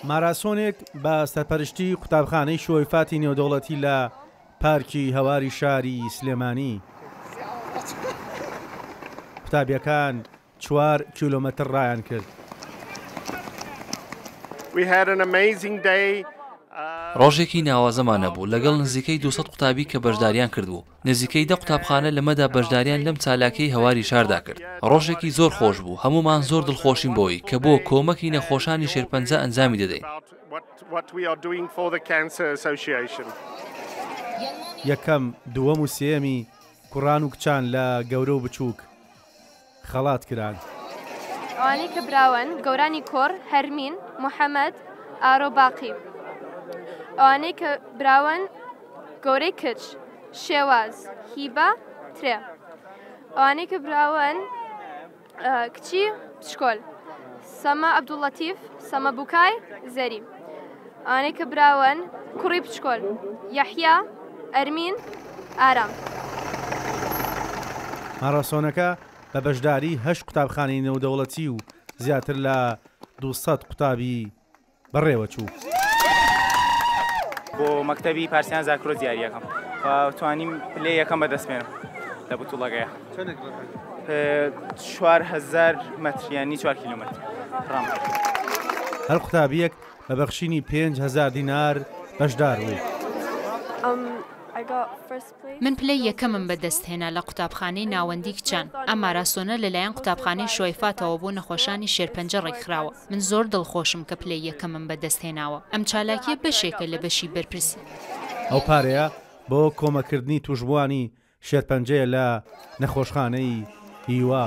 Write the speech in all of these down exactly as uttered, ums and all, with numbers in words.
ماراسۆنێک بە سەرپەرشتی قوتابخانەی شوەیفاتی نێودەوڵەتی لە پارکی هەواری شاری سلێمانی. قوتابیەکان چوار کیلۆمەتر ڕایان کرد. ڕۆژێکی ناوازەمان هەبوو لەگەڵ نزیکەی دوو سەد قوتابی کە بەشداریان کردبوو. نزیکەی دە قوتابخانە لەمەدا بەشداریان لەم چالاکیەی هەواری شاردا کرد. ڕۆژێکی زۆر خۆش بوو، هەمومان زۆر دڵخۆشین بۆی کە بۆ کۆمەکی نەخۆشانی شێرپەنجە ئەنجامی دەدەین. یەکەم، دووەم و سێیەمی کوڕان و کچان لە گەورە و بچووک خەڵات کران. ئەوانەی کە براون گەورانی کوڕ هەرمین، محەممەد، ئارۆ باقی. ئەوانەی کە براون گەورەی کچ، شێواز، هیبە، ترێ. ئەوانەی کە براون کچی پشکۆل، سەما عەبدوڵەتیف، سەما بوکای، زەری. ئەوانەی کە براون کوڕی پشکۆل، یەحیا، ئەرمین، ئارام. ماراسۆنەکە بە بەشداری هەشت قوتابخانەی نێودەوڵەتی و زیاتر لە دوو سەد قوتابی بەڕێوە چوو. بۆ مەکتەبی پارسیان زاکرۆ دیاریەکەم توانیم پلەی یەکەم بەدەستبێنم لە بوتوڵەکەیە. چوار هەزار مەتر یانی چوار کیلۆمەتر ڕام. هەر قوتابیەک بە بەخشینی پێنج هەزار دینار بەشدار بوو. من پلەی یەکەمم بەدەستهێنا لە قوتابخانەی ناوەندی کچان. ئەم ماراسۆنە لەلایەن قوتابخانەی شوەیفاتەوە بۆ نەخۆشانی شێرپەنجە ڕێکخراوە. من زۆر دڵخۆشم کە پلەی یەکەمم بەدەستهێناوە. ئەم چالاکیە بەشێکە لە بەشی بەرپرسی. ئەو پارەیە بۆ کۆمەکردنی توشبووانی شێرپەنجەیە لە نەخۆشخانەی هیوا.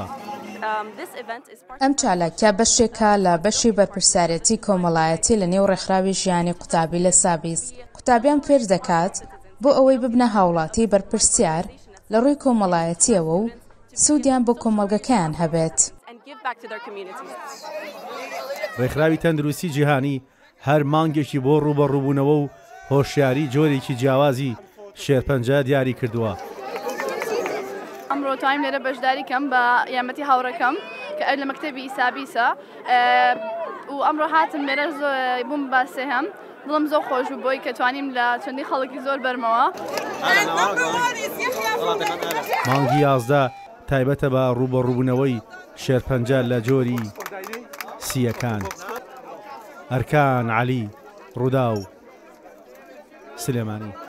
ئەم چالاکیە بەشێکە لە بەشی بەرپرسیارەتی کۆمەڵایەتی لە نێو ڕێکخراوی ژیانی قوتابی لە سابیس. قوتابیان فێر دەکات بۆ ئەوەی ببنە هاوڵاتی بەرپرسیار لە ڕووی کۆمەڵایەتیەوە و سوودیان بۆ کۆمەڵگەکەیان هەبێت. ڕێکخراوی تەندروستی جیهانی هەر مانگێکی بۆ ڕووبەڕووبوونەوە و هۆشیاری جۆرێکی جیاوازی شێرپەنجە دیاری کردووە. ئەمڕۆ توانیم لێرە بەشداری کەم بە یارمەتی هاوڕێکەم کە ئەو لە مەکتەبی سابیسە و ئەمڕۆ هاتم لێرە بووم بە سێهەم. دڵم زۆر خۆش بوو بۆی کە توانیم لە چەندی خەڵکی زۆر بەرمەوە. مانگی یازدە تایبەتە بە ڕووبەڕووبوونەوەی شێرپەنجە لە جۆری سییەکان. ئەرکان عەلی، ڕووداو، سلێمانی.